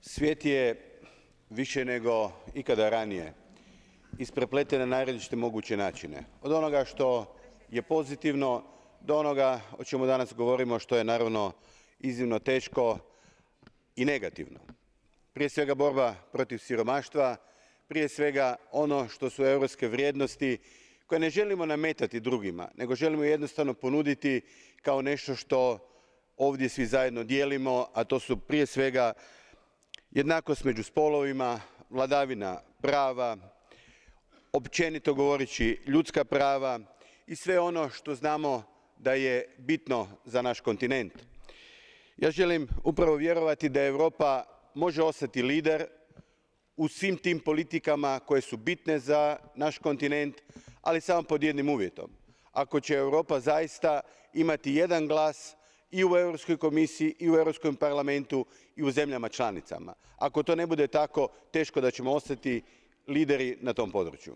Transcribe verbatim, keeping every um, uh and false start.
Svijet je više nego ikada ranije isprepleten na najrazličitije moguće načine. Od onoga što je pozitivno do onoga o čemu danas govorimo, što je naravno iznimno teško i negativno. Prije svega borba protiv siromaštva, prije svega ono što su europske vrijednosti koje ne želimo nametati drugima, nego želimo jednostavno ponuditi kao nešto što ovdje svi zajedno dijelimo, a to su prije svega jednakost među spolovima, vladavina prava, općenito govoreći ljudska prava i sve ono što znamo da je bitno za naš kontinent. Ja želim upravo vjerovati da Europa može ostati lider u svim tim politikama koje su bitne za naš kontinent, ali samo pod jednim uvjetom. Ako će Europa zaista imati jedan glas i u Europskoj komisiji i u Europskom parlamentu i u zemljama članicama. Ako to ne bude tako, teško da ćemo ostati lideri na tom području.